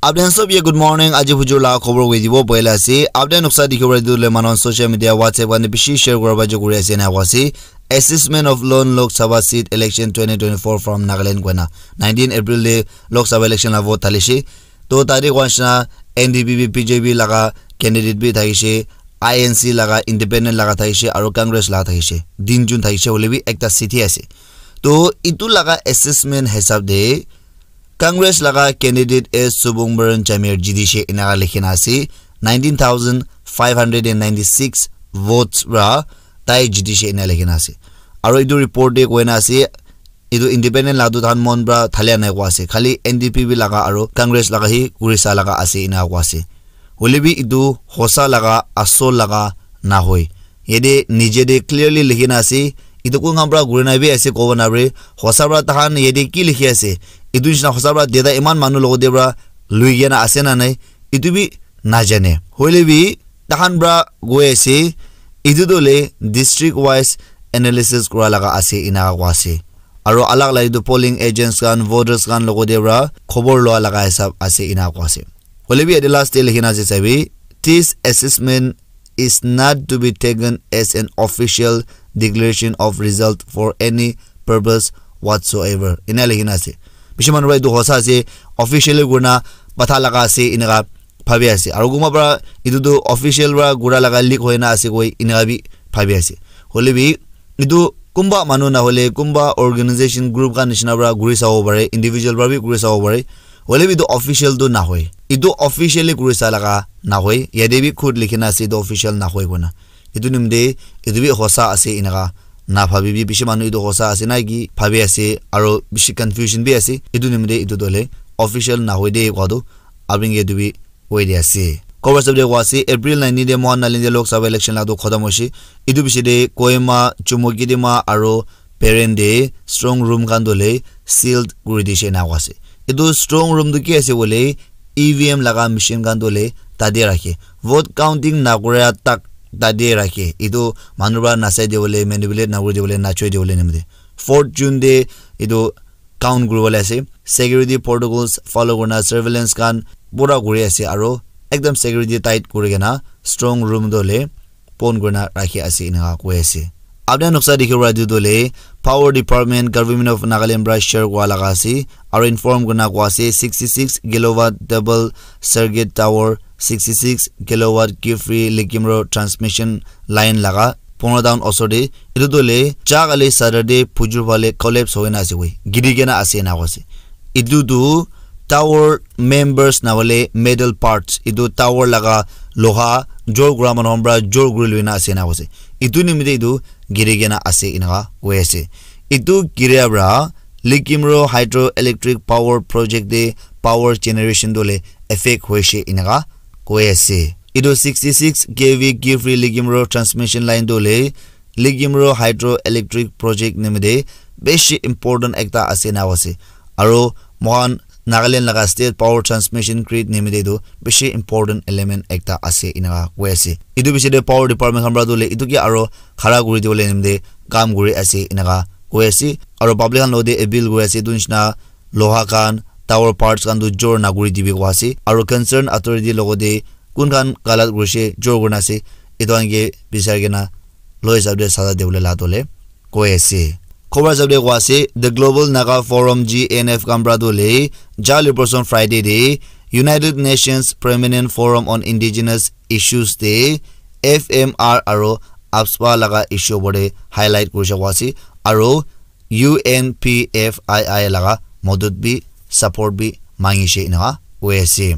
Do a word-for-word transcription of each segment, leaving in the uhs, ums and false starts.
Apni khan sob ye good morning. Aji hujur la khobor koi dibo boila ase. Apni khan noksa dikhibo pare etu le manu khan social media, WhatsApp khan te bishi share kura ba jo kuri ase na ase. Assessment of lone Lok Sabha seat election twenty twenty-four from Nagaland koina. Nineteen April de Lok Sabha election la vote thalishe. To tade koa nishina N D P bi, B J P laga candidate bi thakishe, I N C laga independent laga thakishe, aro Congress laga thakishe. Din jun thakishe hoile bi ekta seat hi ase. To itu laga assessment hisab de Congress laga candidate S Subungbaran Jamir jitishe enaka likhina ase. Nineteen thousand five hundred and ninety-six votes ra tai jitishe ena likhina ase. Aro itu report de koina ase, itu independent la tu tahan mon pra thalia nai koa ase. Khali N D P bi laga aro Congress laga hi kurisa laga ase ena koa ase. Hoile bi itu hosa laga, asol laga nahoi. Yate nije de clearly likhina ase, itu kun khan pra guri nai bi ase kobo na pare. Hosa pra tahan yate ki likhi ase? Itu nishina hosa pra data iman manu logote pra lui kena ase na nai? Itu bi najane. Hoile bi tahan pra goi ase, itu to le district wise analysis kura laga ase ena koa ase. Aro alag alag itu polling agents khan, voters khan logote pra khobor loa laga hisab ase ena koa ase. Hoile bi yate last te likhina ase sabi, this assessment is not to be taken as an official declaration of result for any purpose whatsoever. Ena likhina ase. Bishi manu pra itu hosa ase, officially kurina patha laga ase, enaka bhabi ase. Aro kunba pra itu tu official pra gura laga leak hoina ase koi, enaka bi bhabi ase. Hoile bi itu kunba manu na hole, kunba organization group khan nishina pra guri sabo pare, individual pra bi guri sabo pare. Hoile bi itu official tu nahoi. Itu officially guri sa laga nahoi. Yate bi khud likhina ase itu official nahoi koina. Itu nimite itu bi hosa ase enaka na bhabi bi bishi manu itu hosa ase na ki bhabi ase aro bishi confusion bi ase. Itu nimite itu dole official nahoi de koa tu abring ke itu bi hoi de ase. Khobor sab de koa ase, April nineteen de mohan Nagaland de Lok Sabha election la tu khotom hoise. Itu bishi de Kohima, Chumukedima aro Peren de strong room khan dole sealed kuri dishe ena koa ase. Itu strong room tu ki ase bole, E V M laga machine khan dole tate rakhe. Vote counting nakura tak tate rakhe. Itu manu pra nasai de bole, manipulate nakuri de bole, nachoi de bole nimite. Fourth June de itu count kuribole ase. Security protocols follow kurina surveillance khan pura kuri ase aro ekdam security tight kuri kena strong room dole pon kurina rakhi ase enaka koi ase. Apni khan noksa dikhibo pare etu tu hoile Power Department Government of Nagaland pra share kura laga ase aro inform kurina koa ase sixty six kilowatt double circuit tower, sixty six kilowatt Kiphire Lekimro transmission line laga Pongatown osor te. Etu tu hoile ja kali Saturday phujur phale collapse hoina ase koi, giri kena ase ena koa ase. Etu tu tower members na hoile metal parts, etu tower laga loha jor kura manu khan pra jor kuri loina ase ena koa ase. Etu nimite etu giri kena ase enaka koi ase. Etu giria pra Lekimro Hydroelectric Power Project te power generation tu hoile effect hoise enaka koi ase. Etu sixty six K V Kiphire Lekimro transmission line tu hoile Lekimro Hydroelectric Project nimite bishi important ekta ase ena koa ase. Aro mohan Nagaland laga State Power Transmission Grid nimite tu bishi important element ekta ase enaka koi ase. Etu bishi de Power Department khan pra tu hoile etu ke aro khara kuri dibole nimite kam kuri ase enaka koi ase. Aro public khan logote appeal kuri ase etu nishina loha khan, tower parts khan tu jor nakuri dibi koa ase. Aro concern authority logote kun khan galat kurishe, jor kurina ase, etu khan ke bisari kena loi hisab de saza dibole la tu hoile koi ase. Khobor hisab de koa ase, The Global Naga Forum, G N F khan pra tu hoile jali person Friday de United Nations Permanent Forum on Indigenous Issues de F M R aro AFSPA laga issue opor de highlight kurishe koa ase aro U N P F I I laga modot bi support bi mangishe enaka koi ase.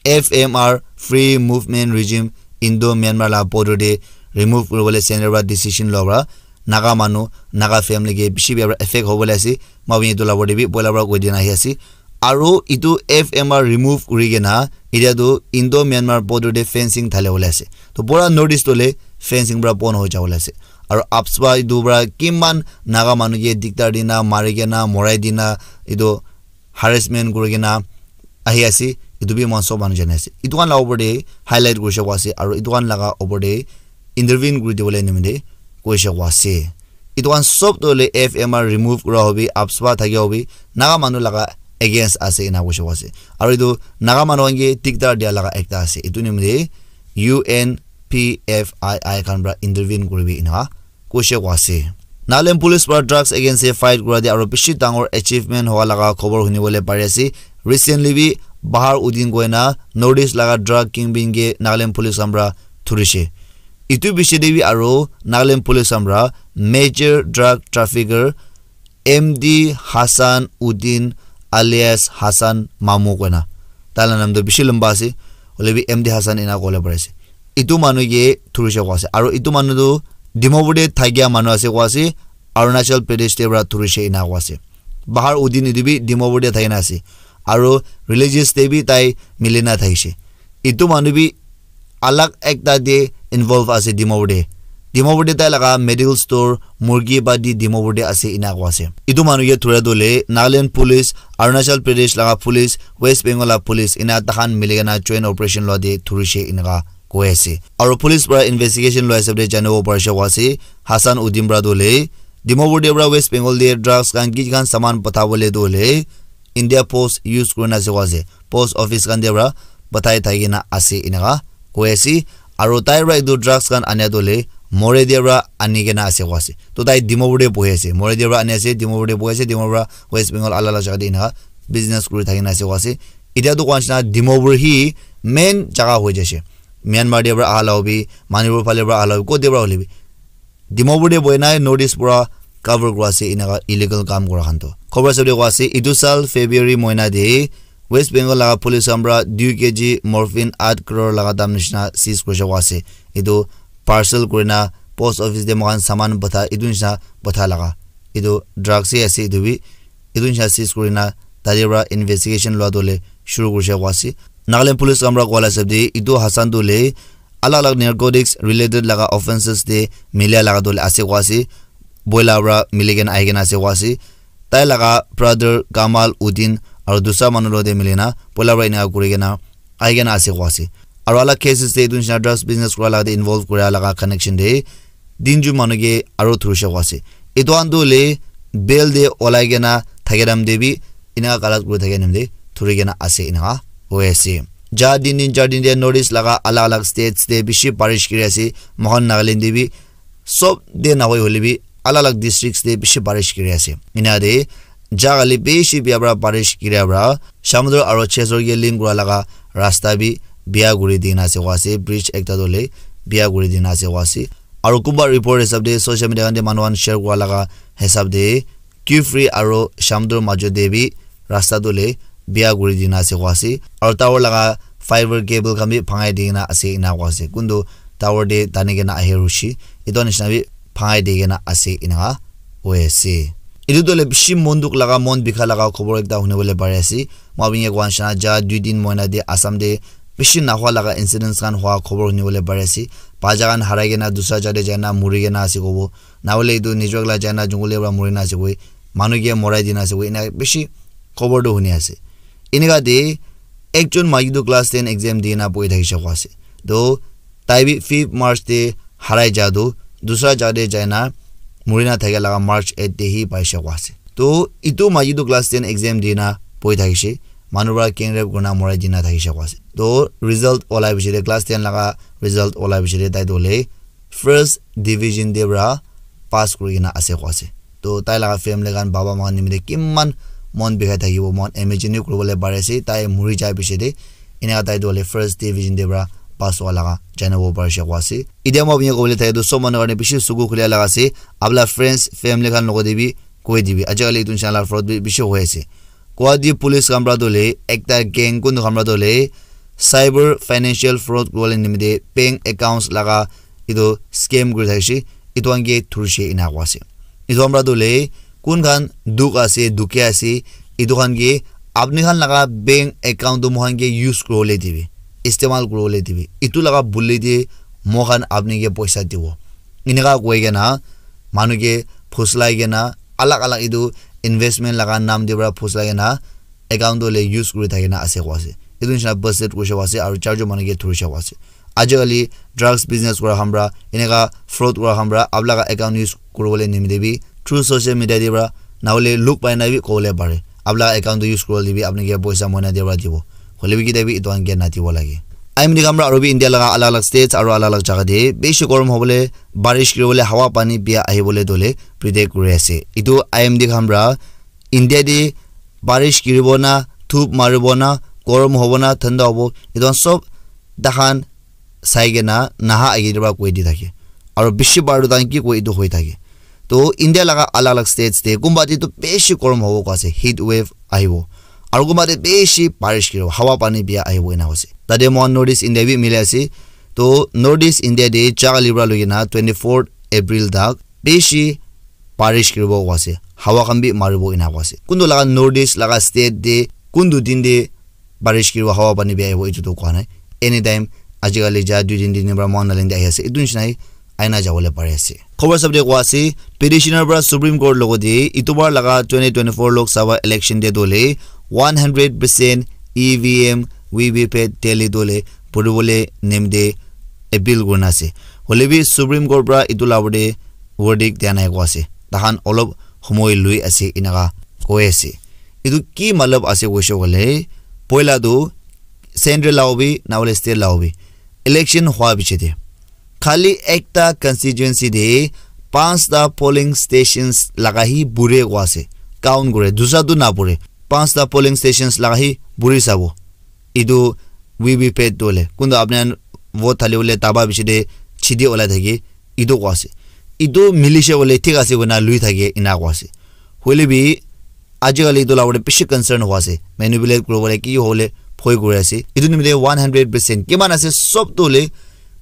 F M R Free Movement Regime Indo Myanmar la border de remove kuribole center pra decision loa pra Naga manu, Naga family ke bishi bia pra effect hobole ase. Moi etu la opor de bi poila pra koi dina ahi ase. Aro etu F M R remove kuri kena etia tu Indo Myanmar border de fencing thale bole ase. To pura North East tu hoile fencing pra bon hoi jabole ase. Aro AFSPA etu pra kiman Naga manu ke diktar dina, mari kena, morai dina, etu harassment kuri kena ahi ase, etu bi moikhan sob manu jani ase. Etu khan la opor de highlight kurishe koa ase, aro etu khan laga opor de intervene kuri dibole nimite koishe koa ase. Etu khan sob tu hoile F M R remove kura hobi, AFSPA thakia hobi, Naga manu laga against ase ena koishe koa ase. Aru etu Naga manu khan ke dikdar dia laga ekta ase. Etu nimite U N P F I I khan pra intervene kuribi ena koishe koa ase. Nagaland Police pra drugs against e fight kura de aro bishi dangor achievement hoa laga khobor hunibole pari ase. Recently bi Bahar Uddin koina North East laga drug kingpin ke Nagaland Police khan pra thurishe. Itu bishi de bi aro Nagaland Police khan pra major drug trafficker M D Hassan Uddin alias Hassan Mamu koina. Taila nam tu bishi lamba ase. Hoile bi M D Hassan ena kole pare ase. Itu manu ke thurishe koa ase. Aro itu manu tu Dimapur te thakia manu ase koa ase. Arunachal Pradesh te pra thurishe ena koa ase. Bahar Uddin itu bi Dimapur te thakina ase. Aro religious te bi tai milina thakishe. Itu manu bi alag ekta te involve ase Dimapur te. Dimapur te tai laga medical store murgi badi Dimapur te ase ena koa ase. Itu manu ke thura tu le Nagaland Police Arunachal Pradesh laga police, West Bengal laga police ena tahan miligena joint operation lua de thurishe eneka koi ase. Aro police pra investigation lua hisab de janibo parishe koa ase, Hassan Uddin pra tu le Dimapur de pra West Bengal de drugs khan ki khan saman patha bole tu le India Post use kurina ase koa ase. Post office khan de pra pathai thakina ase eneka koi ase. Aro tai pra etu drugs khan ania tu le Moreh de pra ani kena ase koa ase. To tai Dimapur de bohi ase. Moreh de pra ani ase, Dimapur de bohi ase, Dimapur pra West Bengal alak alak jaga de eneka business kuri thakina ase koa ase. Itya tu koa nishina Dimapur hi main jaga hoi jaise. Myanmar de pra aha la hobi, Manipur phale pra aha la hobi, kote pra hoile bi. Dimapur de bohi nai North East pura cover kura ase eneka illegal kam kura khan to. Khobor sabi koa ase, itu sal February moina de West Bengal laga police khan pra two K G morphine eight crore laga dam nishina seize kurishe koa ase. Itu parcel kurina post office de moikhan saman patha, itu nishina patha laga. Itu drugs he ase itu bi. Itu nishina seize kurina tate pra investigation lua tu le shuru kurishe koa ase. Nagaland police khan pra koa la hisab de itu Hassan tu le alag alag narcotics related laga offenses te milia laga tu le ase koa ase. Boila pra miligena ahikena ase koa ase. Tai laga brother Kamal Uddin aro dusra manu lo te milina boila pra eneka kurikena ahikena ase koa ase. Aro alak cases te etu nishina drugs business kura laga te involve kura laga connection te tinjun manu ke aro thurishe koa ase. Etu khan tu hoile bail te olai kena thake time te bi eneka galat kuri thake time te thuri kena ase eneka hoi ase. Ja tin din char din te North East laga alak alak states te bishi barish kiri ase. Moikhan Nagaland te bi sob te nahoi hoile bi alak alak districts te bishi barish kiri ase. Ena de jaga le bishi bia pra barish kiri pra Shamator aro Chessor ke link kura laga rasta bi bia kuri dina ase koa ase, bridge ekta tu le bia kuri dina ase koa ase. Aro kunba report hisab de social media khan de manu khan share kura laga hisab de Kiphire aro Shamator majo de bi rasta tu le bia kuri dina ase koa ase. Aro tower laga fiber cable khan bi bhangai dina ase ena koa ase. Kuntu tower de tani kena ahe rushi. Etu nishina bi bhangai di kena ase eneka hoi ase. Etu tu hoile bishi mon dukh laga, mon bikha laga khobor ekta hunibole pari ase. Moi apni ke koa nishina ja dui din moina de Assam de bishi nahua laga incidents khan hua khobor hunibole pari ase. Bacha khan harai kena dusra jaga te jaina muri kena ase kobo. Nahole etu nijor ekla jaina jungle te pra muri na ase koi. Manu ke morai dina ase koi. Ena bishi khobor tu huni ase. Eneka de ekjon maiki tu class ten exam di na bohi thakishe koa ase. To tai bi fifth March te harai ja tu dusra jaga te jaina muri na thakia laga March eight te hi paishe koa ase. To etu maiki tu class ten exam di na bohi thakishe, manu pra gang rape kurina morai dina thakishe koa ase. To result olai piche te class ten laga result olai piche te tai tu hoile first division te pra pass kuri kena ase koa ase. To tai laga family khan baba ma khan nimite kiman mon bikhai thakibo, mon imagine bi kuribole pari ase. Tai muri jai piche te eneka tai tu hoile first division te pra pass hua laga janibo parishe koa ase. Itya moi apni ke kobole thake tu sob manu karne bishi suku khulia laga ase. Apna friends, family khan logot te bi koi dibi. Ajikali etu nishina laga fraud bi bishi hoi ase. Guwahati police khan pra tu hoile ekta gang kuntu khan pra tu hoile cyber financial fraud kuribole nimite bank accounts laga etu scam kuri thakishe, etu khan ke thurishe ena koa ase. Etu khan pra tu hoile kun khan dukh ase, dukhe ase, etu khan ke apni khan laga bank account tu moikhan ke use kuribole dibi, istemal kuribole dibi. Etu laga buli te moikhan apni ke poisa dibo. Eneka koi kena manu ke phuslai kena alag alag etu investment laga naam te pra phuslai kena account tu hoile use kuri thakina ase koa ase. Etu nishina busted kurishe koa ase aru charjon manu ke thurishe koa ase. Ajikali drugs business kura khan pra, eneka fraud kura khan pra, apni laga account use kuribole nimite bi through social media te pra, nahole luk pai na bi kobole pare. apni laga account tu use kuribole bi apni ke poisa moina dia para dibo. Hoile bi kita bi etu khan ke nadibo lage. I M D khan para aru bi India laga alag alag states aru alag alag jaga te bishi gorom hobole, barish kiribole, hawa pani biya ahibole dole predict kuri ase. Etu I M D khan para India te barish kiribo na, thup maribo na, gorom hobo na, thanda hobo, etu khan sob takhan sai kena naha age te para koi di thake. Aru bishi bar tu takhan ki koi etu hoi thake. To India laga alag alag states te kumba te tu bishi gorom hobo koi ase, heat wave ahibo. Aru kumba te bishi barish kiribo, hawa pani biya ahibo ena koi ase. Tate moikhan North East India bi mili ase. To North East India te jaga libra loi kena twenty fourth April tak bishi barish kiribo koi ase, hawa khan bi maribo ena koi ase. Kuntu laga North East laga state te kuntu din te barish kiribo, hawa pani biya ahibo, etu tu koa nai. Anytime, ajikali ja dui din, tin din para moikhan Nagaland te ahi ase, etu nishina hi aina jabole pari ase. Khobor sab te koa ase, petitioner para Supreme Court logo te Itubor laga twenty twenty-four Lok Sabha election te dole one hundred percent E V M, V V P A T tally dole puribole nimite appeal kurina ase. Hoile bi Supreme Court para etu la opor te verdict dia nai koi ase. Takhan olop homoi lui ase enaka koi ase. Etu ki matlab ase koishe koile, poila tu central laga bi na hoile state laga bi election hua piche te khali ekta constituency te panchta polling stations laga hi bure koi ase, count kure, dusra tu na bure, panchta polling stations laga hi buri sabo. Etu V V P A T tu hoile kuntu apni khan vote thali bole daba piche te chidi olai thaki etu koi ase. Etu milishe koile thik ase koina lui thake ena koi ase. Hoile bi ajikali etu la opor te bishi concern hua ase, manipulate kuribole ki hole bhoi kuri ase. Etu nimite one hundred percent kiman ase sob tu hoile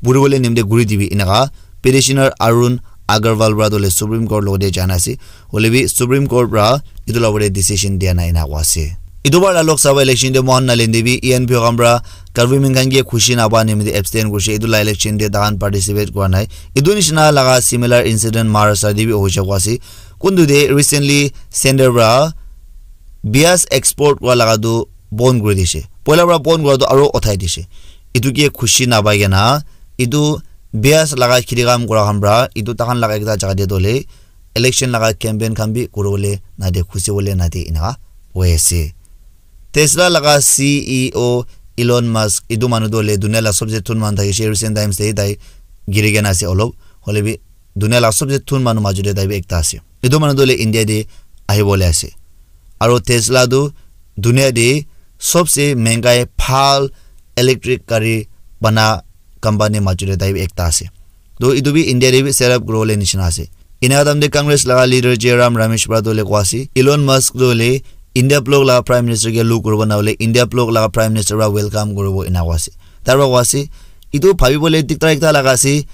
buribole nimite guri dibi enaka petitioner Arun Agarwal para tu hoile Supreme Court logo te jana ase. Hoile bi Supreme Court para etu la opor te decision dia nai ena koi ase. Etu bar la Lok Sabha election te moikhan Nagaland te bi E N P O khan para government khan ke khushi napa nimite abstain kurishe, etu la election te takhan participate kura nai. Etu nishina laga similar incident Maharashtra te bi hoishe koi ase. Kuntu te recently center para bias export kura laga tu bon kuri dishe. Poila para bon kura tu aru uthai dishe. Etu ke khushi napai kena etu bias laga khiti kam kura khan para etu takhan laga ekta jaga te dole election laga campaign khan bi kuribole nade, khusi bole nade enaka hoi ase. Tesla laga C E O Elon Musk, etu manu tu hoile dunia la sobse thun manu thakishe, recent times te tai giri kena ase olop, hoile bi dunia la sobse thun manu maju te tai bi ekta ase. Etu manu tu hoile India te ahibole ase. Aru Tesla tu dunia te sobse mengai bhal electric gari bana company maju te tai bi ekta ase. To etu bi India te bi set up kuribole nishina ase. Ena time te Congress laga leader Jairam Ramesh para tu hoile koi ase, Elon Musk tu hoile India bloc laga prime minister ke look kuribo na hoile India bloc laga prime minister para welcome kuribo ena koi ase. Tar para koi ase, etu bhabibole diktar ekta laga ase,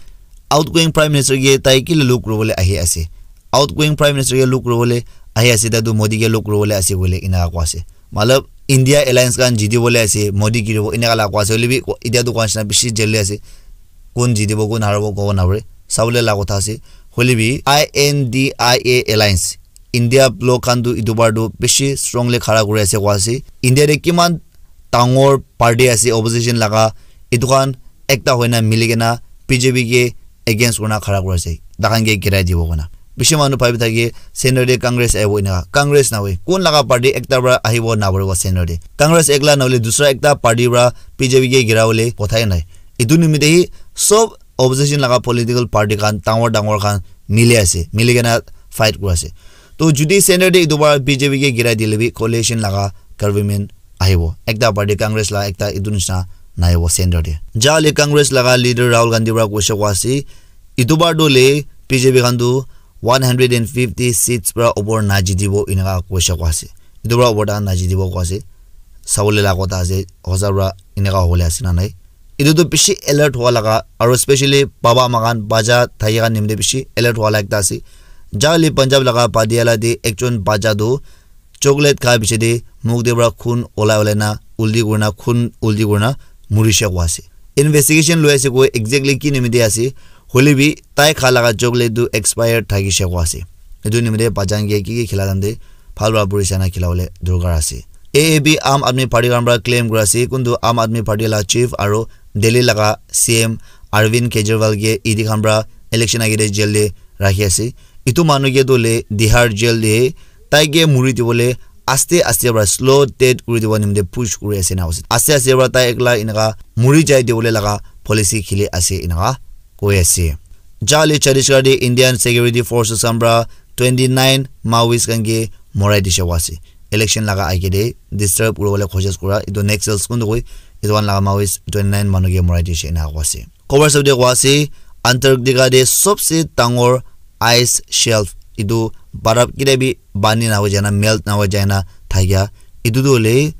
outgoing prime minister ke tai kile look kuribole ahi ase. Outgoing prime minister ke look kuribole ahi ase, tai tu Modi ke look kuribole ase koile ena koi ase. Matlab India alliance khan jiti bole ase, Modi giribo enaka la koi ase, hoile bi ko-, etia tu koi nishina bishi jail te ase. Kun jitibo, kun haribo kobo napare. Sabole la kotha ase. Hoile bi I N D I A alliance, India bloc khan tu etu bar tu bishi strongly khara kuri ase koi ase. India te kiman dangor party ase opposition laga, etu khan ekta hoina mili kena B J P ke against kurina khara kuri ase, takhan ke girai dibo koina. Bishi manu bhabi thake center te Congress ahibo enaka. Congress nahoi, kun laga party ekta para ahibo naparibo center te. Congress ekla nahole dusra ekta party para B J P ke girabole kotha he nai. Etu nimite hi sob opposition laga political party khan dangor dangor khan mili ase, mili kena fight kuri ase. To jodi center te etu para B J P ke girai dile bi coalition laga government ahibo. Ekta party Congress la ekta etu nishina nahibo center te. Jale Congress laga leader Rahul Gandhi para koise koi ase, etu bar tu le B J P khan tu one hundred and fifty seats para upor na jitibo enaka koise koi ase. Etu para upor ta na jitibo koi ase. Sabole la kotha ase, hosa para enaka hobole ase na nai. Etu tu bishi alert hua laga, aru specially baba ama khan bacha thaki khan nimite bishi alert hua laga ekta ase. Jale Punjab laga Patiala te ekjon bacha tu chocolate kha piche te muk te para khun olai olai na ulti kurina, khun ulti kurina murishe koi ase. Investigation loi ase koi exactly ki nimite ase, hoile bi tai kha laga chocolate tu expire thakishe koi ase. Etu nimite bacha khan ke ki ki khila time te bhal para puri sai na khila bole dorkar ase. A A P Aam Aadmi Party khan para claim kuri ase, kuntu Aam Aadmi Party la chief aru Delhi laga C M Arvind Kejriwal ke E D khan para election age te jail te rakhi ase. Etu manu ke tu le Tihar jail te tai ke muri dibole aste aste para slow death kuri dibo nimite push kuri ase ena koise. Aste aste para tai ekla enaka muri jai dibole laga policy khili ase enaka koi ase. Jale Chhattisgarh te Indian Security Forces khan para twenty nine Maoist khan ke morai dishe koa ase. Election laga age te disturb kuribole koshish kura etu Naxals kuntu koi etu khan laga Maoist twenty nine manu ke morai dishe ena koa ase. Khobor sabde koa ase Antarctica te sobse dangor ice shelf etu baraf kile bi bani na hoi jana melt na hoi jana thakia etu tu hoile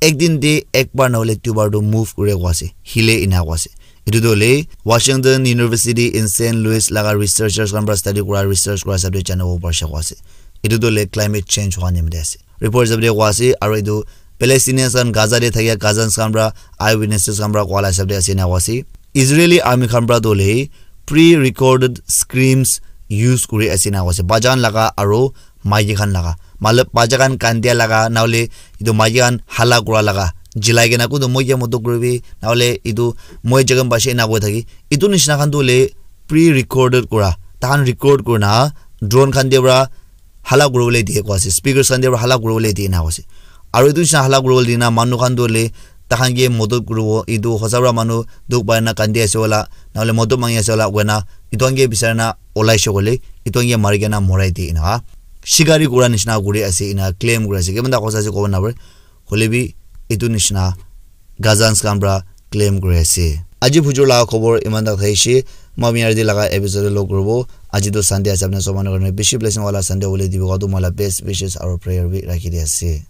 ek din te ek bar na hoile duibar tu move kure koa ase, hile ena koa ase. Etu tu hoile Washington University in Saint Louis laga researchers khan para study kura research kura hisab te janibo parishe koa ase. Etu tu hoile climate change hua nimite ase. Report hisab te koa ase aru etu Palestinians khan Gaza te thakia cousins khan para eyewitnesses khan para koa la hisab te ase ena koa ase. Israeli army khan para tu hoile pre-recorded screams use kuri ase ena koa ase. Bacha khan laga aru maiki khan laga. Matlab bacha khan kandia laga na hoile etu maiki khan hala kura laga. Jilai kena kuntu moi ke modot kuribi na hoile etu moi jaga paise ena koi thaki. Etu nishina khan tu hoile pre-recorded kura. Tahan record kurina drone khan te para hala kuribole diye koa ase, speakers khan te para hala kuribole diye ena koa ase. Aru etu nishina hala kuribole dina manu khan tu hoile takhan ke modot kuribo, etu hosa para manu dukh pai na kandi ase wala, na hoile modot mangi ase wala koina etu khan ke bisari na olai she koile etu khan ke mari kena morai diye ena shikari kura nishina kuri ase ena claim kuri ase. Kiman ta hosa ase kobo napare, hoile bi etu nishina Gazans khan para claim kuri ase. Aji bujur laga khobor iman tak thaishe, moi apni yate laga episode log kuribo. Aji tu Sunday ase, apni sob manu karne bishi blessing wala Sunday hobole dibo, koa tu moi la best wishes aru prayer bi rakhi di ase.